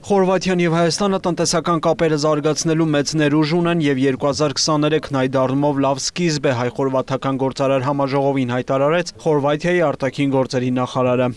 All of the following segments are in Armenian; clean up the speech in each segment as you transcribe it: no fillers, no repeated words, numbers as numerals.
Խորվաթիան եւ Հայաստանը տնտեսական կապերը զարգացնելու մեծ ներուժ ունեն եւ 2023-ն այդ առումով լավ սկիզբ է հայ-խորվաթական գործարար համաժողովին հայտարարեց Խորվաթիայի արտաքին գործերի նախարարը։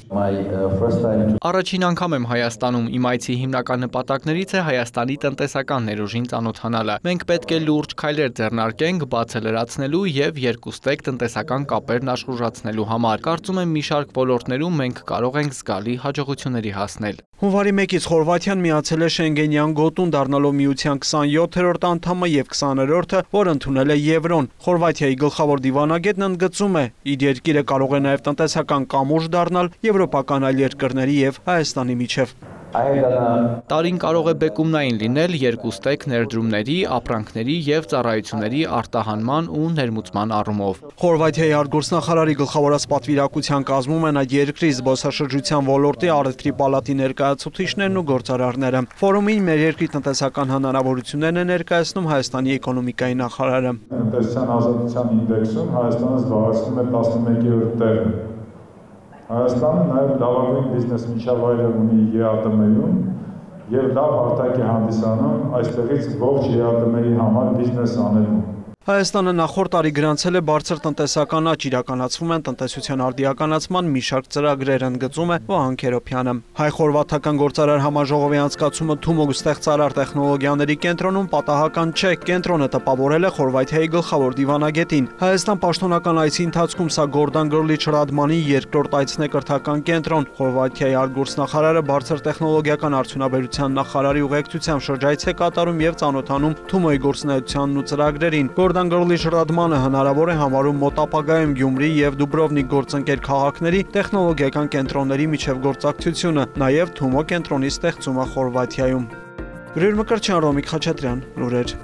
Առաջին անգամ եմ Հայաստանում, իմ այցի հիմնական նպատակներից է Հայաստանի տնտեսական ներուժին ծանոթանալը։ Մենք պետք է լուրջ քայլեր ձեռնարկենք բացը լրացնելու եւ երկուստեք տնտեսական կապերն աշխուժացնելու համար։ Կարծում եմ մի շարք ոլորտներում մենք կարող ենք զգալի հաջողությունների հասնել։ Հունվարի 1-ից Խորվաթիան միացել է Շենգենյան գոտուն, դառնալով միության 27-րդ անդամը եւ 20-րդը, որ ընդունել է Եվրոն։ Խորվաթիայի գլխավոր դիվանագետն ընդգծում է, իր երկիրը կարող է նաեւ տնտեսական կամուրջ դառնալ եվրոպական այլ երկրների եւ Հայաստանի միջև։ Տարին կարող է բեկումնային լինել երկուստեք ներդրումների, ապրանքների եւ ծառայությունների արտահանման ու ներմուծման առումով։ Խորվաթիայի արտգործնախարարի գլխավորած պատվիրակության կազմում են այդ երկրի զբոսաշրջության ոլորտի առևտրի պալատի ներկայացուցիչներն ու գործարարները։ Ֆորումին մեր երկրի տնտեսական հնարավորություններն է ներկայացնում Հայաստանի էկոնոմիկայի նախարարը։ Տնտեսության ազատության ինդեքսում Հայաստանը զբաղեցնում է 11-րդ տեղը։ Հայաստանը նաև լավագույն բիզնես միջավայրը ունի ԵԱՏՄ-ում եւ լավ արտակ է հանդիսանում այստեղից ողջ ԵԱՏՄ-ի համար բիզնես անելու։ Հայաստանը նախորդ տարի գրանցել է բարձր տնտեսական աճ, իրականացվում են տնտեսության արդիականացման մի շարք ծրագրեր, ընդգծում է Վահան Քերոփյանը։ Հայ-խորվաթական գործարար համաժողովի անցկացումը Թումո ստեղծարար տեխնոլոգիաների կենտրոնում պատահական չէ, կենտրոնը տպավորել է Խորվաթիայի գլխավոր դիվանագետին։ Հայաստան պաշտոնական այցի ընթացքում սա Գորդան Գրլիչ Ռադմանի երկրորդ այցն է կրթական կենտրոն։ Խորվաթիայի արտգործնախարարը բարձր տեխնոլոգիական արդյունաբերության նախարարի ուղեկցությամբ շրջայց է կատարում եւ ծանոթանում Թումոյի գործունեությանն ու ծրագրերին։ Գորդան Գրլիչ Ռադմանը հնարավոր է համարում մոտ ապագայում Գյումրի եւ Դուբրովնիկ գործընկեր քաղաքների տեխնոլոգիական կենտրոնների միջև գործակցությունը, նաեւ Թումո կենտրոնի ստեղծումը Խորվաթիայում։ Գրիգոր Մկրտչյան, Ռոմիկ Խաչատրյան, լուրեր։